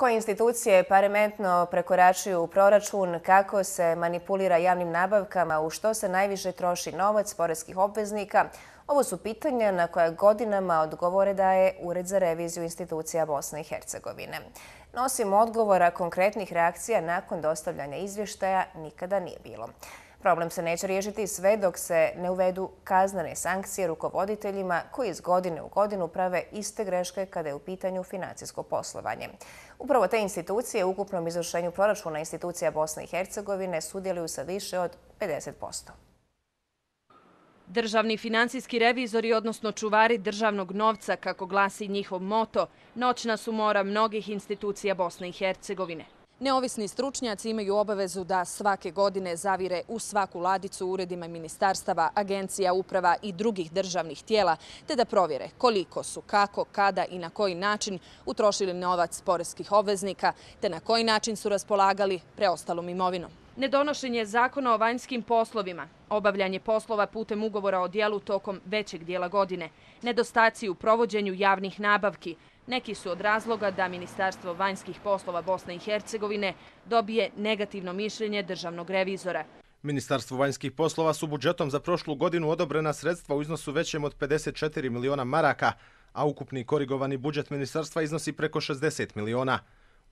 Koje institucije parametno prekoračuju proračun, kako se manipulira javnim nabavkama, u što se najviše troši novac poreskih obveznika? Ovo su pitanja na koja godinama odgovore daje Ured za reviziju institucija Bosne i Hercegovine. No, osim odgovora, konkretnih reakcija nakon dostavljanja izvještaja nikada nije bilo. Problem se neće riješiti sve dok se ne uvedu kaznene sankcije rukovoditeljima koji iz godine u godinu prave iste greške kada je u pitanju financijsko poslovanje. Upravo te institucije u ukupnom izvršenju proračuna institucija Bosne i Hercegovine sudjeluju sa više od 50%. Državni financijski revizori, odnosno čuvari državnog novca, kako glasi njihov moto, noćna su mora mnogih institucija Bosne i Hercegovine. Neovisni stručnjaci imaju obavezu da svake godine zavire u svaku ladicu uredima ministarstava, agencija, uprava i drugih državnih tijela, te da provjere koliko su, kako, kada i na koji način utrošili novac poreskih obveznika, te na koji način su raspolagali preostalom imovinom. Nedonošenje zakona o vanjskim poslovima, obavljanje poslova putem ugovora o djelu tokom većeg dijela godine, nedostaci u provođenju javnih nabavki, neki su od razloga da Ministarstvo vanjskih poslova Bosne i Hercegovine dobije negativno mišljenje državnog revizora. Ministarstvu vanjskih poslova su budžetom za prošlu godinu odobrena sredstva u iznosu većem od 54 miliona maraka, a ukupni korigovani budžet ministarstva iznosi preko 60 miliona.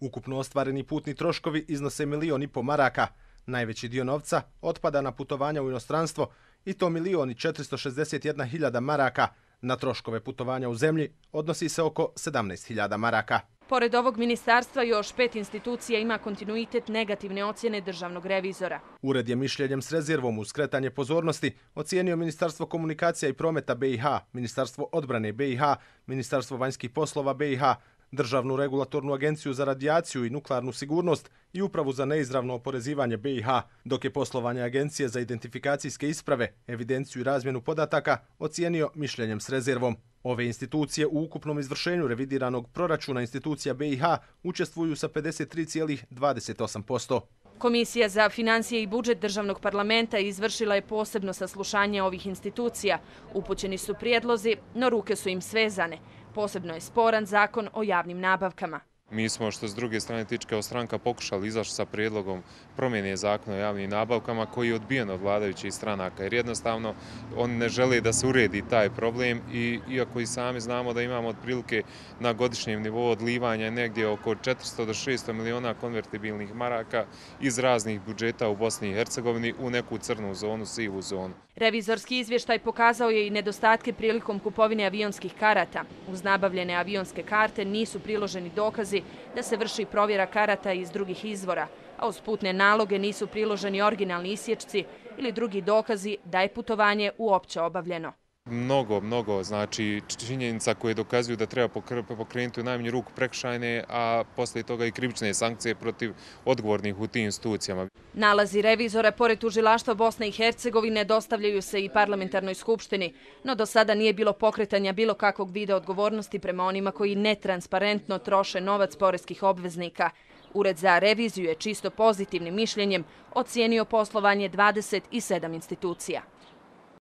Ukupno ostvareni putni troškovi iznose 1,5 miliona maraka. Najveći dio novca otpada na putovanja u inostranstvo i to 1.461.000 maraka. Na troškove putovanja u zemlji odnosi se oko 17.000 maraka. Pored ovog ministarstva još 5 institucija ima kontinuitet negativne ocjene državnog revizora. Ured je mišljenjem s rezervom uz skretanje pozornosti ocijenio Ministarstvo komunikacija i prometa BiH, Ministarstvo odbrane BiH, Ministarstvo vanjskih poslova BiH, Državnu regulatornu agenciju za radijaciju i nuklearnu sigurnost i Upravu za neizravno oporezivanje BiH, dok je poslovanje Agencije za identifikacijske isprave, evidenciju i razmjenu podataka ocijenio mišljenjem s rezervom. Ove institucije u ukupnom izvršenju revidiranog proračuna institucija BiH učestvuju sa 53,28%. Komisija za financije i budžet državnog parlamenta izvršila je posebno saslušanje ovih institucija. Upućeni su prijedlozi, no ruke su im svezane. Posebno je sporan zakon o javnim nabavkama. Mi smo, što s druge strane tiče kao stranka, pokušali izaći sa prijedlogom promjene zakona o javnim nabavkama koji je odbijen od vladajućih stranaka, jer jednostavno oni ne žele da se uredi taj problem i iako i sami znamo da imamo otprilike na godišnjem nivou odlivanja negdje oko 400 do 600 miliona konvertibilnih maraka iz raznih budžeta u Bosni i Hercegovini u neku crnu zonu, sivu zonu. Revizorski izvještaj pokazao je i nedostatke prilikom kupovine avionskih karata. Uz nabavljene avionske karte nisu priloženi dokazi da se vrši provjera karata iz drugih izvora, a uz putne naloge nisu priloženi originalni isječci ili drugi dokazi da je putovanje uopće obavljeno. Mnogo, znači činjenica koje dokazuju da treba pokrenuti u najmanju ruku prekršajne, a poslije toga i krivične sankcije protiv odgovornih u tim institucijama. Nalazi revizora pored tužilaštva Bosne i Hercegovine dostavljaju se i parlamentarnoj skupštini, no do sada nije bilo pokretanja bilo kakvog vida odgovornosti prema onima koji netransparentno troše novac poreskih obveznika. Ured za reviziju je čisto pozitivnim mišljenjem ocijenio poslovanje 27 institucija.